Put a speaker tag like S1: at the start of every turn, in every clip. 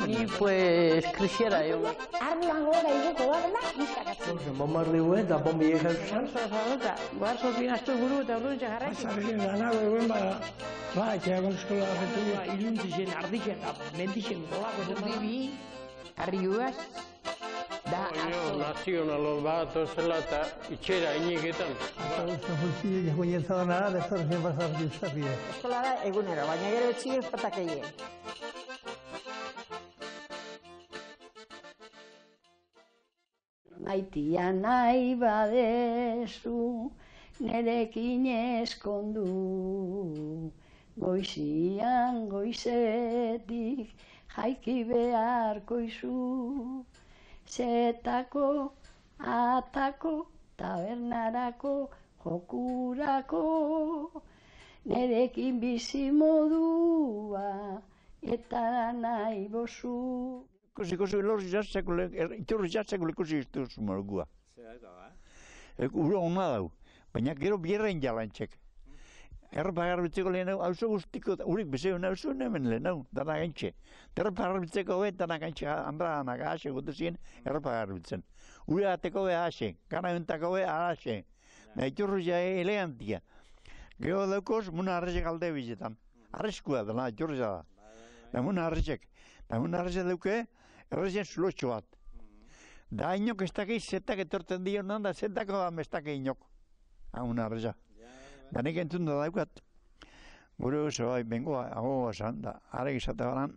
S1: Y pues krisiera egon.
S2: Arduan gora igoko da dela, nizkakatzen.
S3: Bombardeo eta bombi egin.
S1: Guar sorpinaztu buru eta orduan jarraitzen.
S3: Zarrien lanago egon etxeakon eskola horretu.
S1: Iluntzien, ardixen eta mendixen golako zen. Bibi, arriugaz.
S4: Nazionalo bat ozela eta itxera ineketan.
S3: Guztiak guinezadan ara, destorzen pasar guztapide.
S2: Eskola da egunero, baina gero etxio espatak egin.
S5: Maitia nahi badezu, nerekin eskondu. Goizian goizetik jaiki beharko izu. Zetako, atako, tabernarako, jokurako. Nerekin bizi modua, eta nahi bozu.
S6: Ikusi lorri jartzeko, iturri jartzeko ikusi iztuz morgua. Ura hona dau, baina gero bierrein jalantxek. Erropa garbitzeko lehen hau, hauzo guztiko, urik bezeo nauzu hemen lehen hau, dana gaintxe. Erropa garbitzeko be, dana gaintxe, handradanak ahase gotezien, erropa garbitzen. Ura ateko be ahase, gana entako be ahase. Iturri ja elegantia. Gero daukoz, muna arrezek alde bizetan. Arrezkua dela, iturri da. Muna arrezek. Muna arrezek dauke, errezen zulotxo bat. Da inok ez dakei zetak etorten dio nan, da zetako da mestak inok. Muna arrezek. Da nik entzun da daukat. Gure oso bai, bengoa, agoa esan, da arek izate baran,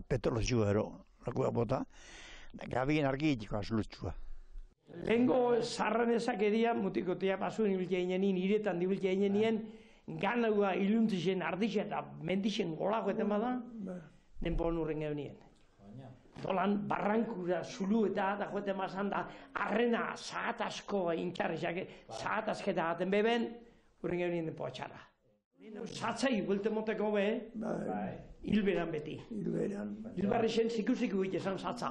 S6: petrolezioa ero, lakua bota, da gabien argitiko azulotxua.
S7: Lehenko zarran ezakeria, mutikotea pasuen ibiltzea inenin, iretan dibiltzea inenien, ganaua iluntzisen, ardixen eta mendixen golako eten bada, denpo nurren geunien. Dolan barrankura zulu eta da joeten bazan da arrena zahat asko intxarrizak, zahat asketa gaten beben, urren geunien denpo atxara. Zatzai buelte moteko be, hilberan beti. Hilbarri zen ziku-ziku egite zen zatza.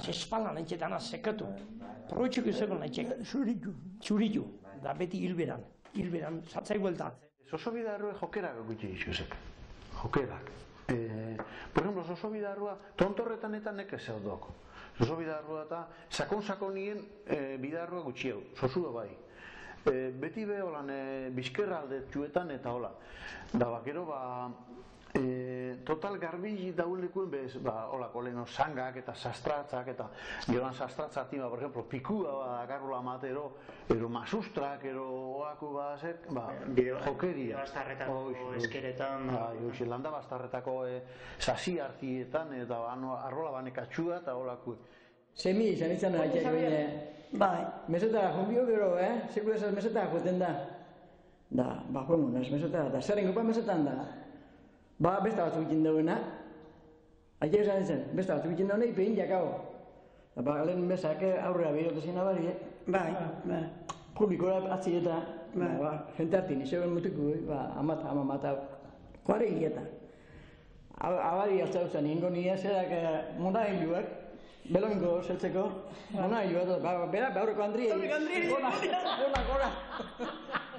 S7: Zespalan entxetan sekatu. Proitxuk izango nahitzek. Txuritu. Da beti hilberan. Hilberan, zatzai buelta.
S8: Oso bidarrua jokerak gutxi izuzek. Jokerak. Por ejemplo, oso bidarrua tontorretan eta neke zeudoko. Oso bidarrua eta sakon-sakonien bidarrua gutxi hau. Zozu da bai. Beti be holan bizkerra aldetxuetan eta hola. Da bakero total garbili daulekuen bez, holako leheno sangak eta sastratzak eta geroan sastratzatima, por ejemplo, pikua dakarrola matero, ero masustrak, ero oaku bazek, jokeria.
S9: Bastarretako eskeretan.
S8: Landa bastarretako sasi hartietan eta arrola banekatxua eta holako.
S10: Semi izan izan nahiak egin, mesetara jumbio gero, sekula esaz mesetara joten da. Da, joen ez mesetara, da zerren gupa mesetan da. Besta batzuk ikin dauena. Aia esan izan, besta batzuk ikin dauna ipein jakao. Lehen mesak aurrera behirotezien abari, publikora atzi eta jente hartin, izegoen mutiku, amamata, kuare higieta. Abari hartza duzan, ingo nire zerak mona hilduak, Beloingo zeltzeko, mona hilduak, bera behorreko Andri egin. Gora.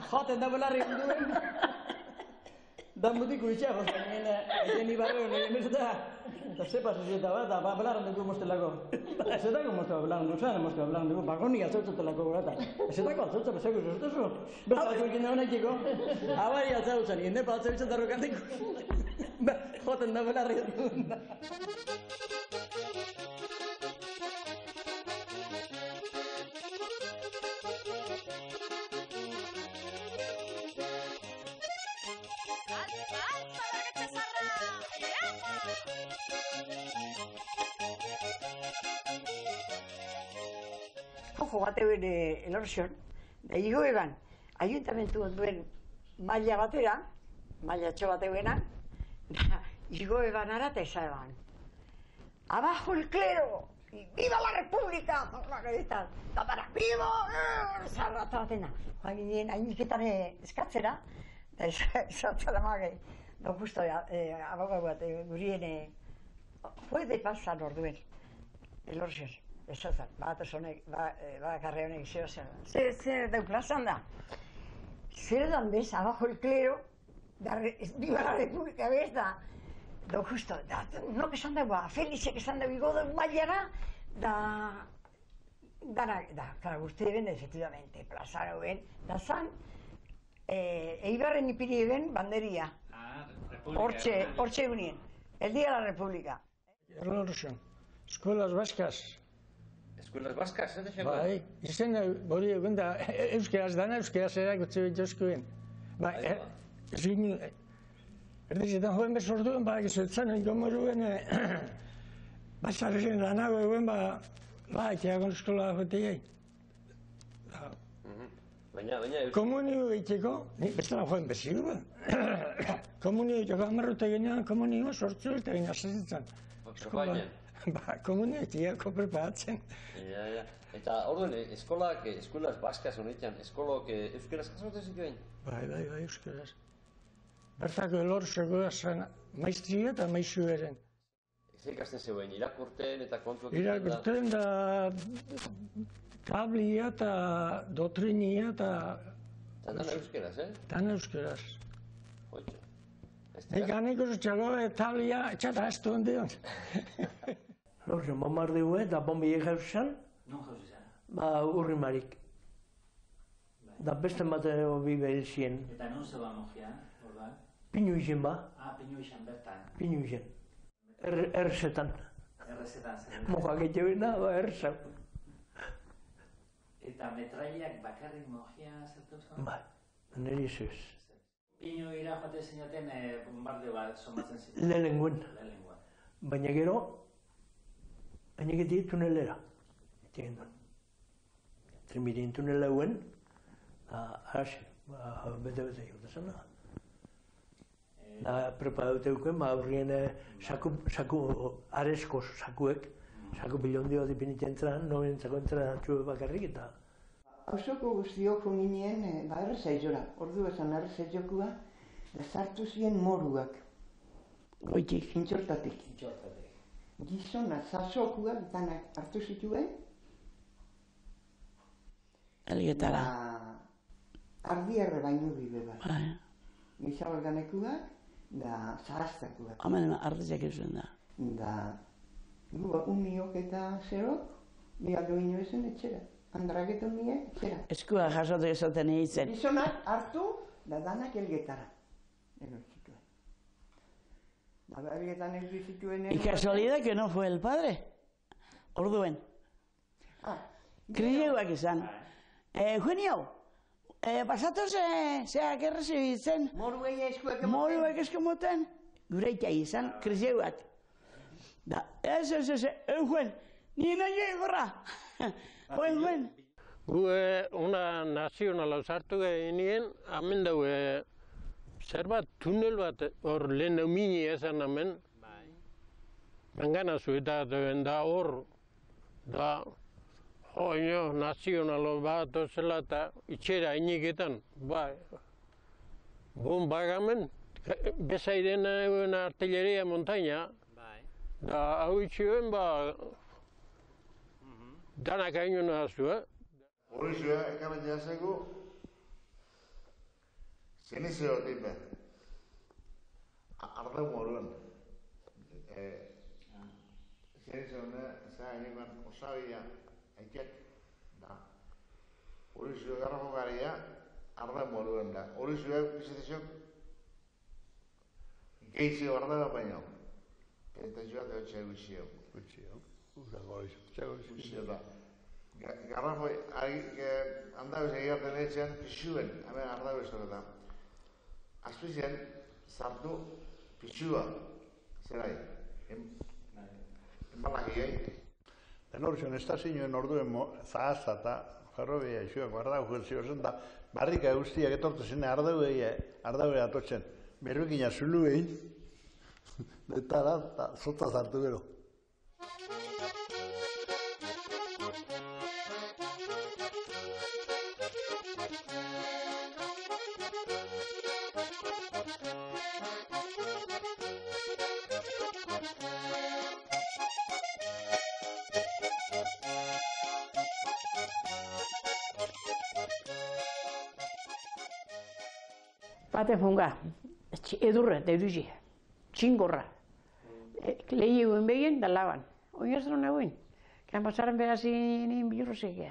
S10: Joten da belarri duen. Da mutiko itxea, egen ibarre honen emezeta, eta zepa zezieta bat, da belarren dugu mostelako. Zetako mostelako belarren dugu, zaren mostelako belarren dugu, bakoni altzautzatelako gorata. Zetako altzautzat bezako zuzutezu. Besta batzuk egin da honetiko, abari altzautzan, indepa altzautzat arrokantiko. Joten da belarri duen.
S2: Ojo bateuen elorzion, da higo eban, ayuntamentu duen maila batera, maila txo bateuena, da higo eban arata eza eban. Abajo el clero, viva la república, da para vivo, zarrata batena. Hain hainiketan eskatzera, da esatzara magei, da justo abogau bat gurien puede pasar orduen. elorzen, ez zazan, bakarre honek zeo zen. Zer dau plazan da? Zer dan bez, abajo el clero, viva la república, bez da, justo, nok esan dago, Felixek esan dago igodo mailara, claro, guzti eben, efectivamente, plaza gauen, da zan, Eibarren ipiri eben banderia. Hortxe egunien, el día de la república.
S7: Erlorzen, eskuelas baskaz.
S11: Eskuelas baskaz, ez da?
S7: Bai, izen hori egun da, euskeraz dana, euskeraz erakutze bituzkoen. Bai, erdizetan joen bez orduen, gizuetzen gomoruen, batzarren lanago eguen, iteakon eskola joteei.
S11: Baina...
S7: Komunio egiteko, bestela joen bezigu. Komunio egiteko amarrute genean, komunio sortzu eta gina zezitzen.
S11: Preparatzen?
S7: Komunio egiteko preparatzen.
S11: Eta orduan, eskolaz baskaz honetan, eskolok euskeraz jasotzen zituen?
S7: Bai, euskeraz. Bertako elortzeko zen maiztria eta maizu eren.
S11: Zer ikasten zeuen, irakurten eta kontuak?
S7: Irakurten da tablia eta dotrinia eta...
S11: Tan euskeraz,
S7: Tan euskeraz.
S11: Hoitxo.
S7: Nik aniko zutxago tablia etxata ez duen dion.
S1: Lorzen, bombar dugu eta bombi egauzan?
S9: Non jauzizan?
S1: Urri marik. Da beste bat bi behil zien.
S9: Eta non zeba mojia, ordan?
S1: Pinu izen ba.
S9: Pinu izan bertan.
S1: Pinu izen. Errezetan.
S9: Errezetan zen.
S1: Mojak etxebena, errezau.
S9: Eta metrailak bakarrik mojia zertu zen?
S1: Bai, niri zuz.
S9: Pinu ira joate zinaten bombardeo bat somatzen ziren?
S1: Lehenguen. Baina gero, aineketik tunelera. Eten duen. Trimirin tunela guen, hasi, bete-bete jota zena. Preparaute duken, horrien saku, arezko sakuek, saku bilondio dipinitzen zan, nobentzako entzera txube bakarrik eta...
S12: Hauzoko guztiok honginien, errezaizora, ordu esan errezaizokua, zartu ziren moruak.
S5: Goitik.
S12: Intxortatik. Gizona, zazokuak danak hartu zituen.
S5: Elgetara.
S12: Ardiarre baino bibe bat. Gizabalganekuak, da zahaztakuak.
S5: Hemen ardizak izuen da.
S12: Da, uniok eta zerok, bialdo ino ezen etxera. Andragetu nien, etxera.
S5: Eskua jasotu ezaten egiten.
S12: Gizonak hartu, da danak elgetara. Zituen. Elgetan ez bizituen...
S5: Y casualidad que no fue el padre. Orduen. Krieuak izan. Eugenio, pasatu zeak errezibitzen.
S12: Moruei eskuek emoten.
S5: Moruek eskemoten. Gureitea izan, krieuak. Da, ez, Eugen, ni nahi egorra. Eugen.
S4: Gu una nazionala sartu genien, hemen daue zer bat, tunel bat, hor lehen mini esan hemen. Mengana zueta da hor, da, nazionalo bat ozela eta itxera iniketan, bai. Bagamen, bezairen artilleria montaña, da hau itxioen, danak hain nahaztu,
S13: Hori zua, ekarren jazeko, zenizeo tipe. Arda moruan. Zenizeo zain iman osabia aiket. Hori zua garrafo garia, arda moruan da. Hori zua, bizitzok, geizio arda da baino. Eta zua da txea guzio. Guzio da. Garrafo, handauz egiten etxean, pixuen, hemen ardauz da. Azpizien, sartu pixua, zerai, enbalak egin.
S8: Elortzen, estazioen orduen zahazta eta ferrobia isuak ardau jurzio zen da, barrika guztiak etortu zene ardauei atotzen. Berrukina zulu egin, eta da, zota zartu gero.
S14: Baten funga, edurra, da iruzi, txingorra. Lehi eguen begin, da laban. Oinazten hona eguen. Kan pasaren behazin bilurrozekea.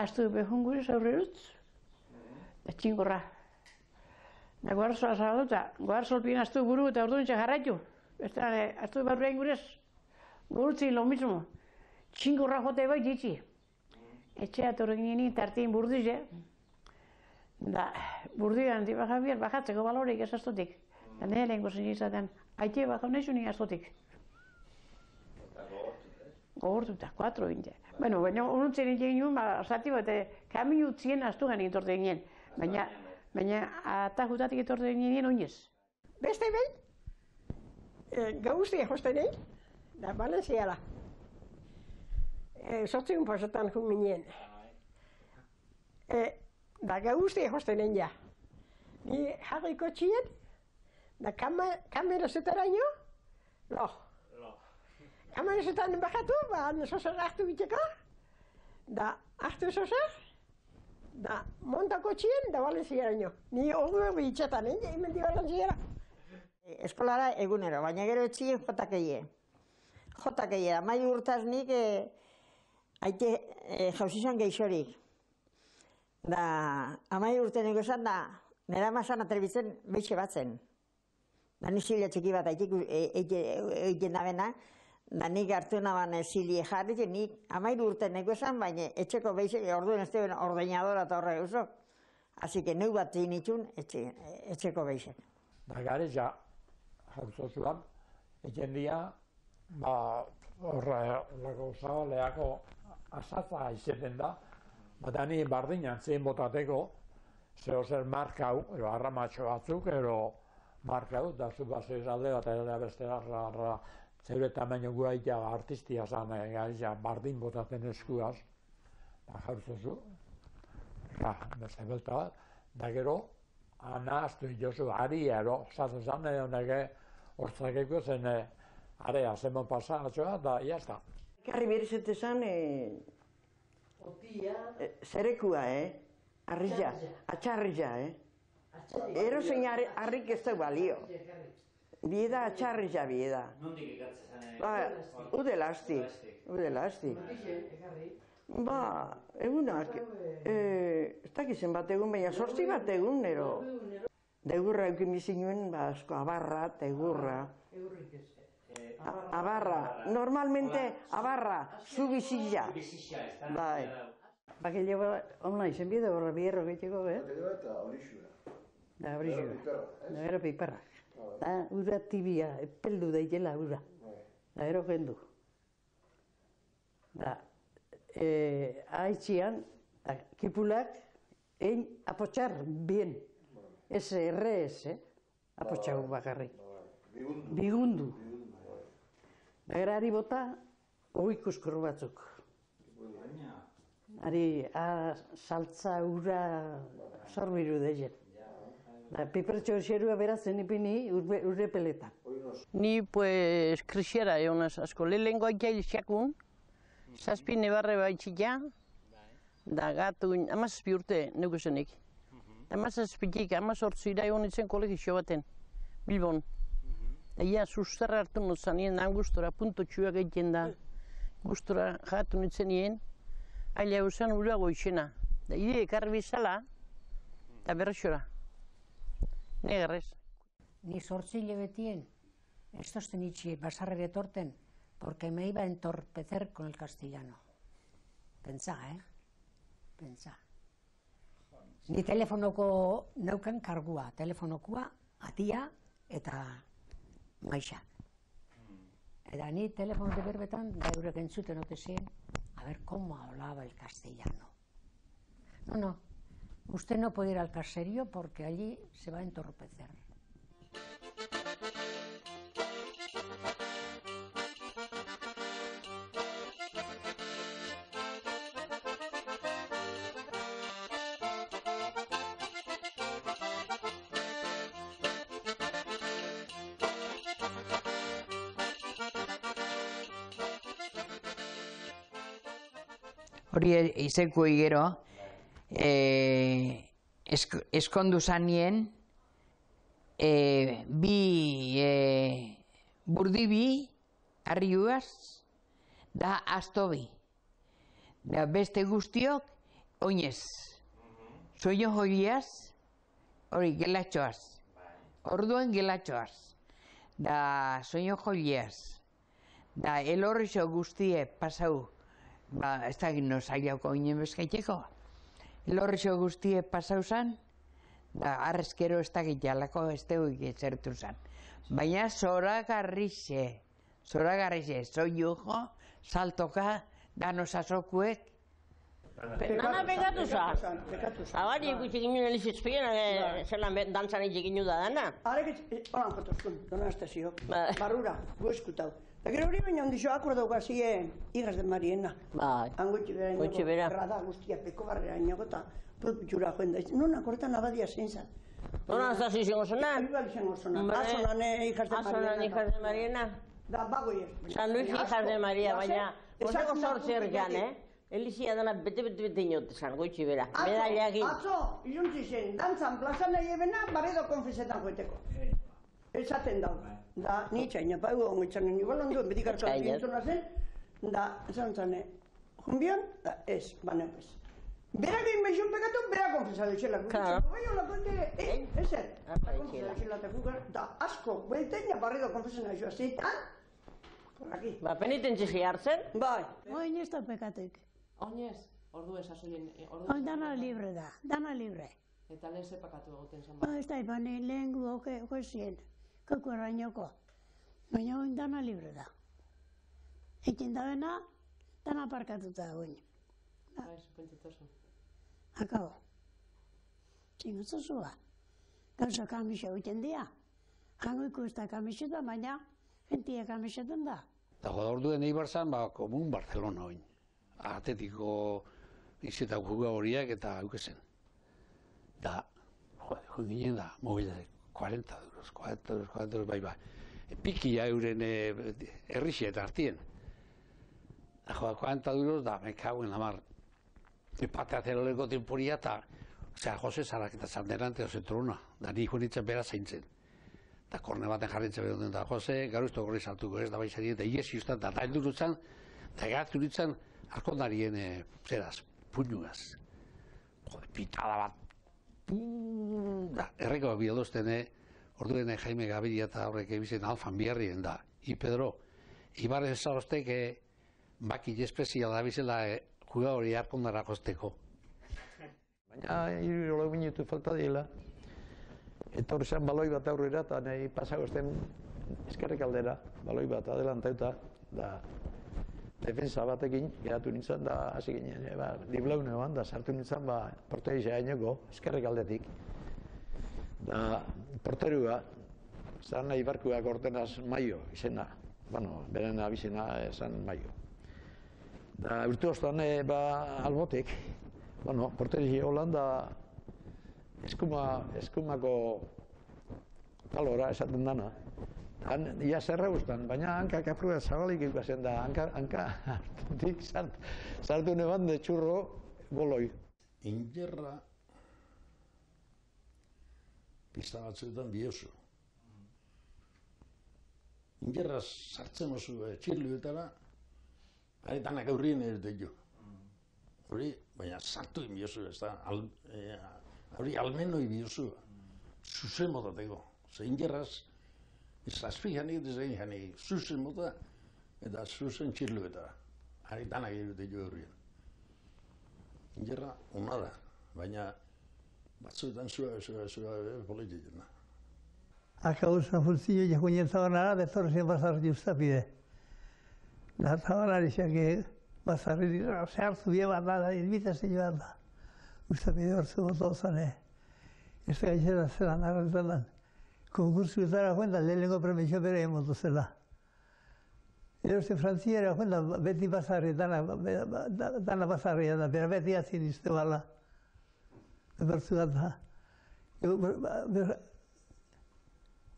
S14: Aztu behun gure zaurrerutz, da txingorra. Da guarzoa zaudota, guarzolpien aztu buru eta orduan jarraitu. Aztu barruain gurez, gurutzi lo mismo. Txingorra jote bai ditzi. Etxea torren gini tartien burdize. Da, burdian di Javier bajatzeko balorik ez astotik. Da nire lehenko zen izaten, haite bajau nahi zuni astotik. Gogortuta, 4 binte. Bueno, baina ununtzen egin nuen, zati bat, kaminu utzien astu gani etorte ginen. Baina, atajutatik etorte ginen oinez.
S15: Beste behin, gauztia josten egin, da Valenciala. Sortzigun pasetan jun ginen. Da gauztia josten egin ja. Ni jarriko txien, da kamera zetaraino, lo. Kamera zetan bajatu, sozer hartu biteko, da hartu sozer, da montako txien, da Valenciaraino. Ni ordu bitxetan, hemen di Valenciara.
S2: Eskolara egunero, baina gero etxien jotakeie. Jotakeie, amai urtaz nik haite jauzizan geixorik. Da, amai urte nego esan da, nera mazan atrebitzen behixe batzen. Da ni zilia txiki bat egiten nabena, da nik hartu naban zilie jarri, nik amai urte nego esan, baina etxeko behixe, orduen ez duen ordeñadora eta horre uso. Asi que neu bat zinitun etxeko behixe.
S16: Da gare ja, jauzozuan, eken dia, horre lako zabaleako azatza izeten da, eta ni bardinan zein botateko, zeo zer markau, arramatxo batzuk, markau, da zu basez alde bat ere beste zeure tamaino guaitea artistia zan, bardin botaten eskuaz, da jauzozu, beste belta bat, da gero, ana aztu itozu, ari ero, zaten zan, nege hortzakeko zen, area zemon pasatxoa, da, jazta.
S12: Karri berizete zan, zerekua, arrija, atxarrija, Ero zein harrik ez da balio. Bieda atxarrija bieda.
S9: Nondik ikatzen?
S12: Udela asti. Egunak, ez dakizen bat egun, baina 8 bat egun, nero. Degurra eukin bizinuen, asko, abarra, tegurra. Abarra, normalmente abarra, zu bizilla. Bai.
S17: Bakillo online zen bide horra bierro gehiago,
S13: Eta horixura.
S17: Da horixura. Da gero piperrak. Da ura tibia, epeldu daitela ura. Da gero gendu. Da, haitxian, kipulak, egin apotxar bien. Ez errez, apotxau bakarrik. Bigundu. Da gero ari bota, oikuskur batzuk. Ari, saltza ura zorbiru dezen. Pipertxo xerua beratzen ipini urre peletan.
S14: Ni, pues, krisiera egonaz asko. Lehenko aitea xakun, 7 nebarre baitxia, da gatu, 17 urte neukusenik. 17tik, 18 ira egon itzen kolegizio baten, Bilbon. Ia, sustarra hartu nutzan nien, gustora, punto txuak egiten da. Gustora jatu nintzen nien, aila eusen urago izena. Da ide ekarri bizala, eta berrexora. Negarrez.
S18: Ni 8 hilabetien, ez tozten itxi basarrere torten, porque me iba a entorpecer con el castellano. Pentsa, Pentsa. Ni telefonoko neukan kargua, telefonokoa, atia eta maixa. Eta ni telefonote berbetan, da eurek entzuten ote zien, a ver cómo hablaba el castellano. No, usted no puede ir al caserío porque allí se va a entorpecer.
S19: Hori izekuei gero, eskondu zanien, burdibi, arriuaz, da astobi. Da beste guztiok, oinez. Soño joiaz, hori gelatxoaz. Orduan gelatxoaz. Da soño joiaz. Da elorrixo guztie pasau. Ez da gino zailauko inen bezkaiteko. Elorrixo guztie pasau zan, da arrezkero ez da gitalako ez dugu zertu zan. Baina zoragarrixe, soño jo, saltoka, dano sasokuek.
S20: Nana pegatu za. Abari ikusi ginen elizizpien, zelan dantzan egin da dana.
S12: Arek holan jotozkun, dona estazio, barrura, gueskutau. Eta gero hori baina ondixo akordauka ziren Hijas de Mariena. Angotxe bera errada guztia peko barrera inago eta propitxura joen da. Non akortan abadia zein zan.
S20: Nona ez da izango zonan?
S12: Ibal izango zonan. Azonan Hijas de Mariena.
S20: Azonan Hijas de Mariena.
S12: Da, bagoier.
S20: San Luis Hijas de Maria, baina Joseko sortzer jan, Elizia dana bete inot esan, goitxi bera. Medaileakin.
S12: Atzo, iluntzi zen, dantzan plazan nahi ebena, barredo konfesetan joeteko. Esaten dau. Da, nitxaina, pa egu ongoitzanen, igual onduen, beti kartzoa zintzuna zen, da, esan zane, junbion, da, ez, baina ez. Berak egin behizun pekatu, berak konfesatu etxela. Bai, holako ete, ezer. Konfesatu etxela eta kugar, da, asko, buelteina barredo konfesena joa zeitan, aquí.
S20: Ba, penitentzi hartzen?
S12: Bai.
S18: Oin ez da pekatik.
S21: Oinez, ordu esasoien...
S18: Oin dana libre da, dana libre.
S21: Eta lehen zepakatu egoten zen
S18: Ez da, bani lehen goezien, koko errainoko. Baina oin dana libre da. Ekin da bena, dana parkatuta oin.
S21: Bai, pentsatozu.
S18: Akabo. Txingotzozua. Gauza kamisa egiten dira. Jango ikusta kamiseta, baina gentia kamisetan da.
S22: Eta orduen Eibar zan, komun Barcelona oin. Atetiko izetako juga horiak eta aukezen. Da, jo ginen da, mobilak, 40 euros, bai. Pikia euren errixia eta hartien. Da, 40 euros da, me cago en la mar. Parte azeroleko temporia eta, Jose Zarak eta Zanderante ozetrona, da ni joan nintzen bera zaintzen. Eta korne baten jarritzen behar da, Jose, garuizto gorri saltuko ez da baizari, eta iesi ustan, da heldurutzen, da gatu nintzen, arkondarien, zeraz, puñugaz. Jode, pitada bat, erreko bidalozten, orduen Jaime Gaviria eta horrek ebizen alfan biharrien da, I Pedro, Ibarren zarostek, baki espezial da bizela, juga hori arkondara josteko.
S6: Baina, hiru minutu falta diela. Eta hori zen baloi bat aurrera, eta nahi pasagozten eskerrik aldera, baloi bat adelantauta, da defensa batekin geratu nintzen, da hasi ginen, diblaune ban, da sartu nintzen, porteria gaineko, eskerrik aldetik. Da, porterua, zan nahi barkuak ortenaz Maio izena, bueno, beren abizena zan Maio. Da, urte ostan, albotek, bueno, porteria Holanda, eskumako talora esaten dana. Ia zerra guztan, baina hankak apruat zabalik ikusten da, hanka hartutik sartu neban de txurro goloi.
S23: Ingerra pista batzuetan biozu. Ingerra sartzen oso txirluetara, danak aurrien ez dugu. Hori, baina sartu biozu ez da, hori almenoi biozu, zuzen motateko. Ze ingerraz, zazpi janik, dezain janik, zuzen mota, eta zuzen txirluetara. Hari danak dugu aurrien. Ingerra ona da, baina batzuetan zua polititzen da.
S3: Akausa fulzillo ja joinen zabanara, betorrezien bazarri ustapide. Da zabanari xake bazarri zehartzu bie bat da, ilbitazen joan da. Ustapide hortzu boto zane. Ez da gaitxera zelan arretan da. Konkursuetara joan da, lehenengo premixo bere emotu zela. Eroste frantziera joan da, beti bazarri, dana bazarria da, bera beti azin izte bala. Bertzu da.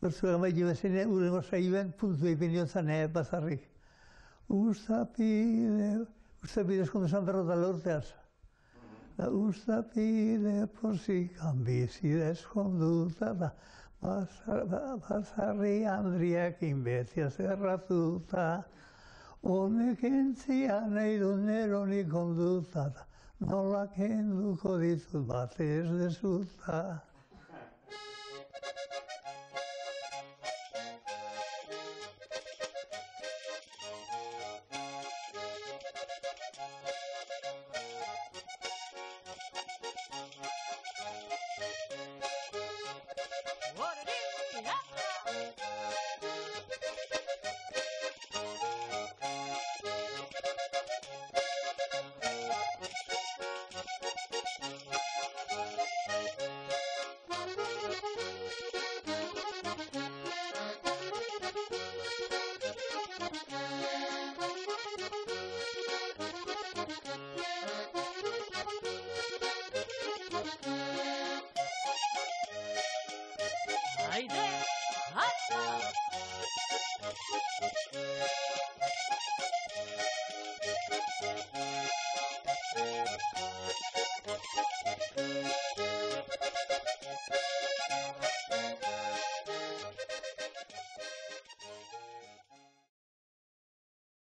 S3: Bertzuak amaitu bezene, urengo saibuen, puntu egin joan bazarrik. Ustapide eskondu San Berrota lorteaz. Ustapide porzik ambizi eskonduta da. Basarri Andriakin beti zerratuta, honek entzia nahi du neronik onduta, nola kenduko ditut batez dezuta.
S7: Haydi! Hatta!